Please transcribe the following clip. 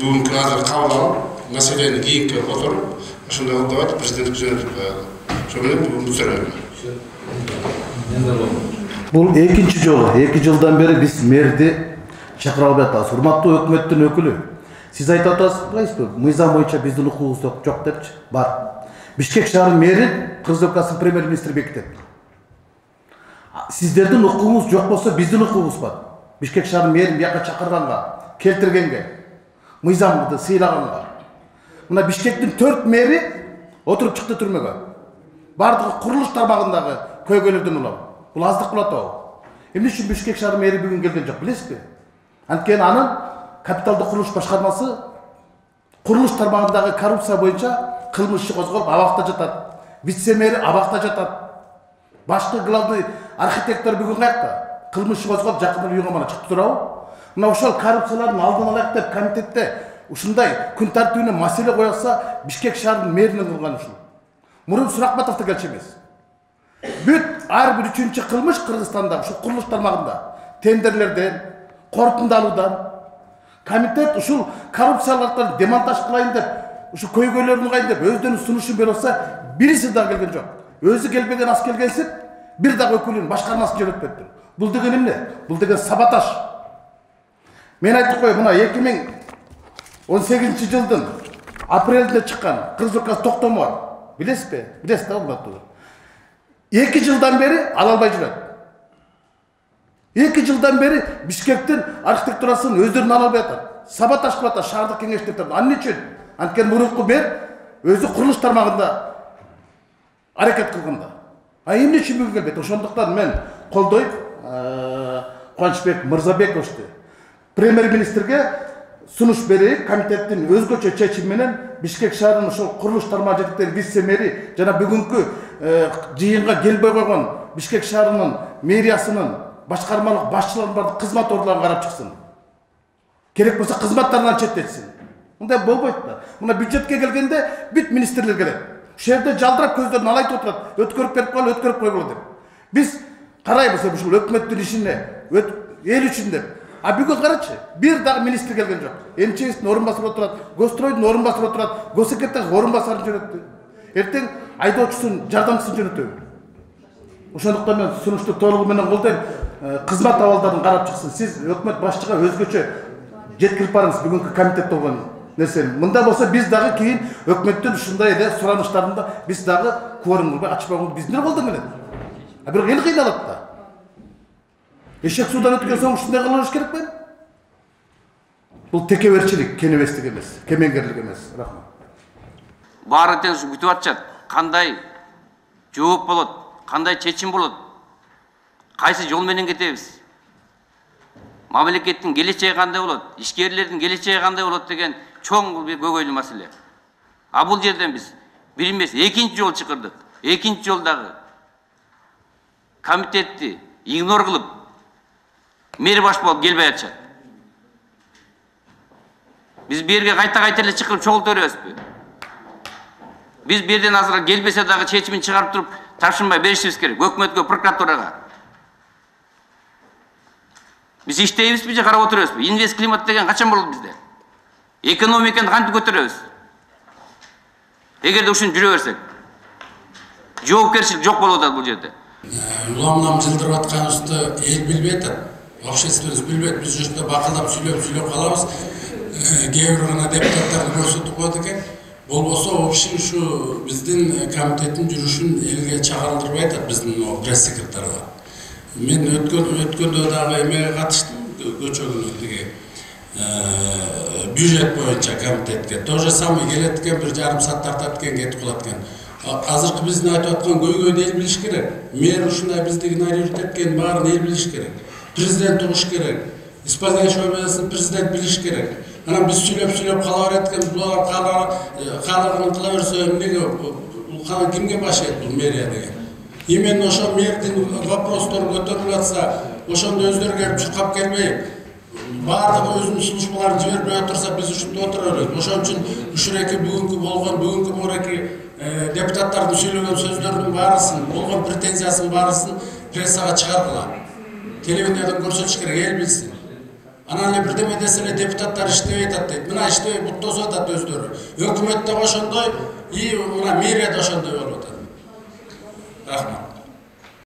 бүгүнкү азыр кабыл алып маселени кийинке которуп ошондой кылып атып президентке жөнөтүп коелу. Ошо менен бүгүнкү суроо. Бул экинчи жолу, 2 жылдан бери биз мэрди чакыра албай атабыз. Урматтуу өкмөттүн өкүлү, сиз айтып атасызбы? Мыйзам боюнча биздин укугубуз жок депчи? Бар. Бишкек шаарынын мэрин Кыргыз Республикасынын премьер-министри бекитет. Сиздердин укугуңуз жок болсо биздин укугубуз бар. Бишкек шаарынын мэрин бияка чакырганга, келтиргенге, мыйзамды сыйлаганга. Мына Бишкектин 4 мэри отуруп чыкты түрмөгө. Бардыгы курулуш тармагындагы көйгөйлөрдөн улам. Бул аздык болот абы. Эмне үчүн Бишкек шаарынын мэри бүгүн келген жок, билесизби? Анткени анын капиталдык курулуш башкармасы курулуш тармагындагы коррупция боюнча кылмыш иши козголуп абакта жатат. Вице-мэри абакта жатат. Башкы главный архитектор бүгүн каякта? Кылмыш иши козголуп жакында үйгө мана чыкты турабы? Мына ошол коррупциялардын алдын алайык деп комитетте ушундай күн тартибине маселе коюлса, Бишкек шаарынын мэринин кылган ушул. Мурун Суракбатовдо келчү эмес. Бүт ар бир 3-чү кылмыш Кыргызстанда ушу курулуш тармагында тендерлерден, корутунду алуудан комитет ушул коррупцияларды демонтаж кылайын деп, ушу көйгөйлөрүн кайын деп өздөрүнүн сунушун берип атса, бириси да келген жок. Өзү келбеген ас келгенсип, бир дагы өкүлүн башкармасын жөнөтпөптүр. Бул деген эмне? Бул деген саботаж. Мен айтып коеюн, мына 2018-жылдын апрелинде чыккан Кыргыз Республикасы токтому бар. Билесизби? Билесиз да урматтуу. 2 жылдан бери ала албай жүрөт. 2 жылдан бери Бишкектин архитектурасын өздөрүн ала албай атат. Саботаж кылып атат шаардык кеңештерде. Анын үчүн? Анткени мурунку мэр өзү курулуш тармагында аракет кылганда. Эмне үчүн бүгүн келбейт? Ошондуктан мен колдойм Кубанычбек Мырзабековичти премьер-министрге сунуш берейик, комитеттин өзгөчө чечими менен Бишкек шаарынын ошол курулуш тармагы жетектеген вице-мэри жана бүгүнкү жыйынга келбей койгон Бишкек шаарынын мэриясынын башкармалык башчыларын бардык кызмат ордуларын карап чыксын. Керек болсо кызматтарынан четтетсин. Мындай болбойт да. Мына бюджетке келгенде бүт министрлер келет. Ошол жерде жалдырап көздөрүн алайтып отурат. Өткөрүп берип койгула деп. Биз карайбыз ушул өкмөттүн ишине, эл үчүн деп. А бүгүн карачы, бир дагы министр келген жок. МЧСтин орун басып отурат, Гостройдун орун басып отурат, Госсекретардын орун басарын жөнөттү. Эртең айдоочусун, жардамчысын жөнөтөбү. Ошондуктан мен сунушту толугу менен колдойм. Кызмат абалдарын карап чыксын. Сиз өкмөт башчыга өзгөчө жеткирип барыңыз бүгүнкү комитетте болгон нерсени. Мында болсо биз дагы кийин өкмөттүн ушундай эле сураныштарында биз дагы кворум кылбай ачпаган биздин колдон келет. А бирок эл кыйналат да. Эшек суудан өткөн соң ушундай кылыш керек беле? Бул текеберчилик, кенебестик эмес, кемеңгерлик эмес. Рахмат. Баары тең күтүп атышат. Кандай жооп болот, кандай чечим болот? Кайсы жол менен кетебиз? Мамлекеттин келечеги кандай болот? Ишкерлердин келечеги кандай болот деген чоң бир көйгөйлүү маселе. А бул жерден биз бир эмес, экинчи жол чакырдык. Экинчи жолдагы комитетти игнор кылып мэр баш болуп келбей атышат. Биз берге кайта эле чакырып чогулта беребизби? Биз берден азыр келбесе дагы чечимин чыгарып туруп тапшырмай беришибиз керек. Өкмөткө, прокуратурага. Биз иштейбизби же карап отурабызбы? Инвест климат деген качан болот бизде? Экономиканы кантип көтөрөбүз? Эгерде ушинтип жүрө берсек, жоопкерчилик жок болуп атат бул жерде. Уламнам жылдырып атканыбызды эл билбей атат. Общественность билбейт. Биз жерде бакылдап сүйлөп калабыз. Кээ бир гана депутаттарды көрсөтүп коет экен. Болбосо общий ушу биздин комитеттин жүрүшүн элге чагылдырбай атат биздин пресс-секретарга. Мен өткөндө дагы эмеге катыштым, көчөгүнө тиги бюджет боюнча комитетке. То же самое келет экен, бир жарым саат тартат экен, кетип калат экен. Азыркы биздин айтып аткан көйгөйдү эл билиш керек. Мэр ушундай биздин игнорирует эткенин баарын эл билиш керек. Президент угуш керек. Исполняющий обязанности президент билиш керек. Анан биз сүйлөп кала берет экен, булар каалагын кыла берсе эмнеге кимге баш ийет бул мэрия деген. Именно ошо мэрдин вопростор көтөрүлүп атса, ошондо өздөрү келип чуркап келбей, баардыгы өзүнүн службаларын жибербей отурса, биз ушунда отура беребиз. Ошон үчүн ушуреки бүгүнкү муреки депутаттардын сүйлөгөн сөздөрүнүн баарысын, болгон претензиясынын баарысын прессага чыгаргыла. Телевидениеден көрсөтүш керек, эл билсин. Анан эле бирдеме десе эле депутаттар иштебей атат дейт. Мына иштебей буттосуп атат өздөрү. Өкмөт да ошондой, и мына мэрия да ошондой болуп атат. Рахмат.